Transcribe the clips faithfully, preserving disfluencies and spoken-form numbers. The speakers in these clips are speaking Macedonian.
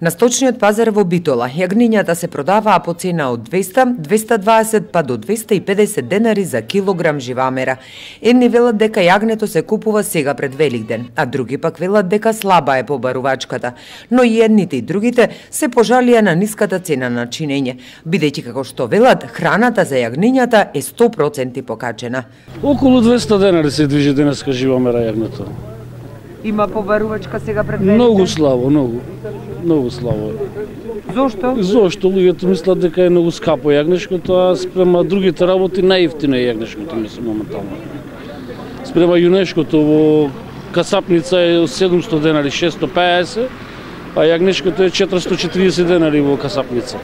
На сточниот пазар во Битола јагнињата се продаваа по цена од двеста, двеста дваесет па до двеста и педесет денари за килограм живамера. Едни велат дека јагнето се купува сега пред Великден, а други пак велат дека слаба е побарувачката. Но и едните и другите се пожалија на ниската цена на чинење, бидејќи како што велат, храната за јагнињата е сто проценти покачена. Околу двеста денари се движи денеска живамера јагнето. Има побарувачка сега пред Великден? Многу слабо, многу. Многу слабо. Зошто? Зошто луѓето мислат дека е многу скапо јагнешкото, а спрема другите работи најевтино е јагнешкото, мислам моментално. Спрема јунешкото во касапница е седумсто денари, шестоста пеесет, а јагнешкото е четиристо и четириесет денари во касапница.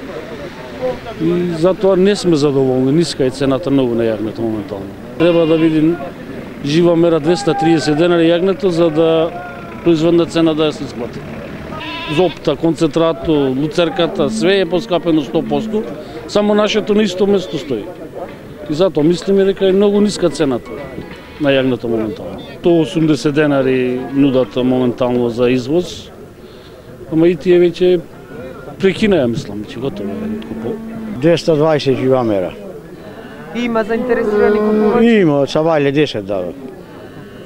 И затоа не сме задоволни, ниска е цената многу на јагнето моментално. Треба да видим жива мера двеста и триесет денари јагнето за да производна цена да ја се исплати. Зопта, концентрато, луцерката, све е поскапено сто проценти, само нашето на исто место стои. И затоа мислиме дека е многу ниска цената на јагнето моментално. сто и осумдесет денари нудат моментално за извоз, ама и тие веќе прекинаа, мислам, че готово е. двеста и дваесет живамера. Има заинтересирани купувачи? Има, од Савајле десет дава.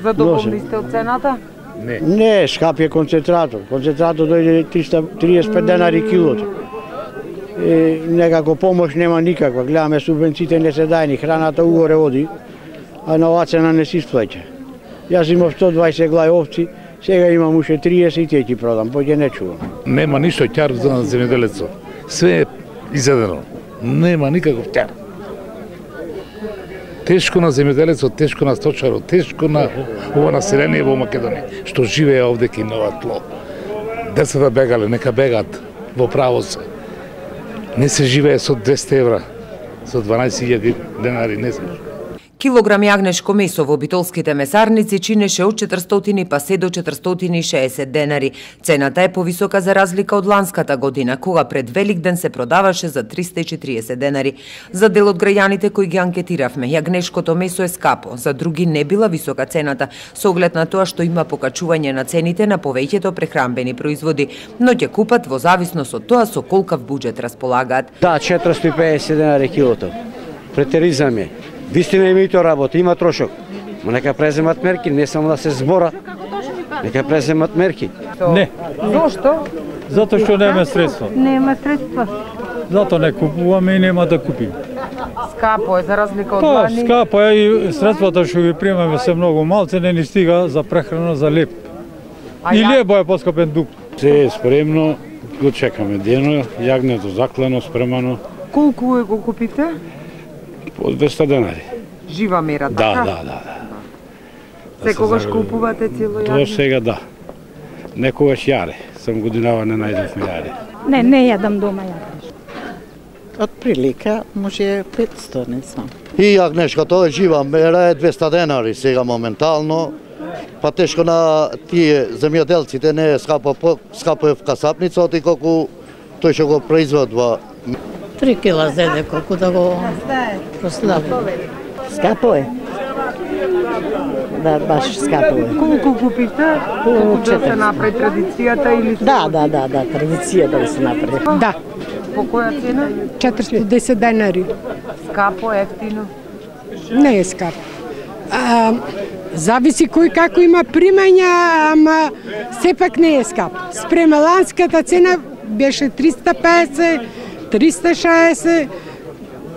Задоволни сте од цената? Не. Не, скап е концентратор. Концентратор дојде триста и триесет и пет денари килото. И некако помош нема никаква. Гледаме субвенциите не се дајни, храната угоре оди, а на оваа цена не се исплаќа. Јас имав сто и дваесет глави овци, сега имам уште триесет и тие ќе продам, поќе не чувам. Нема ништо ќар за земјоделецот. Све е изедено. Нема никаков ќар. Тешко на земјоделецот, тешко на сточарот, тешко на ова население во Македонија, што живее овде кај нова тло. Децата бегале, нека бегат во право се. Не се живее со двеста евра, со дванаесет илјади денари, не се. Килограм јагнешко месо во битолските месарници чинеше од четиристотини па се до четиристотини и шеесет денари. Цената е повисока за разлика од ланската година, кога пред Великден се продаваше за триста и четириесет денари. За дел од граѓаните кои ги анкетиравме, јагнешкото месо е скапо, за други не била висока цената, со оглед на тоа што има покачување на цените на повеќето прехранбени производи, но ќе купат во зависност од тоа со колкав буџет располагаат. Да, четиристо и педесет денари килото. Претеризам е. Вистина има и тоа работа, има трошок. Но нека преземат мерки, не само да се збора. Нека преземат мерки. Не. Зошто? Затоа што нема средства. Нема средства. Затоа не купуваме и нема да купиме. Скапо е за разлика од Па, лани. скапо е и средствата што ги примаме се многу малце, не ни стига за прехрана за леп. А И ја- лебо е поскапен дук. Се е спремно, го чекаме дено, јагнето заклано, спремано, Колку е го купите? по двеста денари. Жива мера, Да, така? да, да. Секогаш купувате цело До јагне? сега да. Некогаш јаре, сам годинава не најдовме јаре. Не, не јадам дома јадам. Од прилика може петсто, не знам. И јагнешкото е жива мера е двеста денари сега моментално. Па тешко на тие земјоделците не е скапо, по- скапо е в касапница, оти колку тој што го производува. Три кила зеде колку да го прослави. Скапо е. Да, баш скапо е. Колку купите? Колку да се направи традицијата или... Да, да, да, да, традиција да се направи. Да, По која цена? четиристо и десет денари. Скапо, ефтино. Не е скап. А, зависи кој како има примања, ама сепак не е скап. Спрема ланската цена беше триста педесет, триста и шеесет,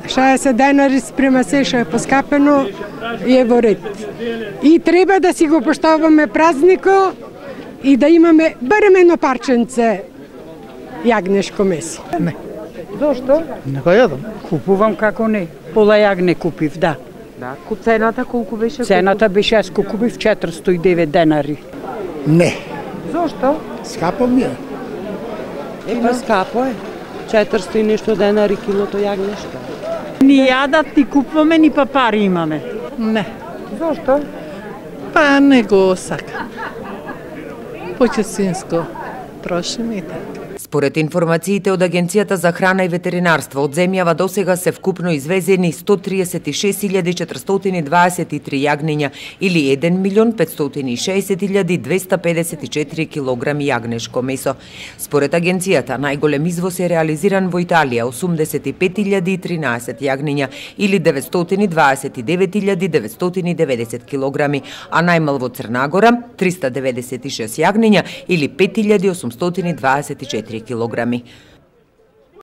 шеесет денари спрема се што е поскапено и е во ред. И треба да си го поштоваме празнико и да имаме барем едно парченце јагнешко месо. Не. Зошто? Не го јадам. Купувам како не. Пола јагне купив, да. Да. Ку цената колку беше? Цената беше јас купив четиристо и девет денари. Не. Зошто? Скапо ми е. Е, па скапо е. четиристо и нешто денари килото јагнешко. Ни јадат, ни купуваме, ни па пари имаме. Не. Зошто? Па не го сакам. Почесинско трошим и така. Според информациите од Агенцијата за храна и ветеринарство, од земјава досега се вкупно извезени сто триесет и шест илјади четиристотини дваесет и три јагниња или еден милион петстотини и шеесет илјади двеста педесет и четири килограми јагнешко месо. Според агенцијата, најголем извоз е реализиран во Италија, осумдесет и пет илјади и тринаесет јагниња или деветстотини дваесет и девет илјади деветстотини и деветдесет килограми, а најмал во Црна Гора триста деветдесет и шест јагниња или пет илјади осумстотини дваесет и четири килограми.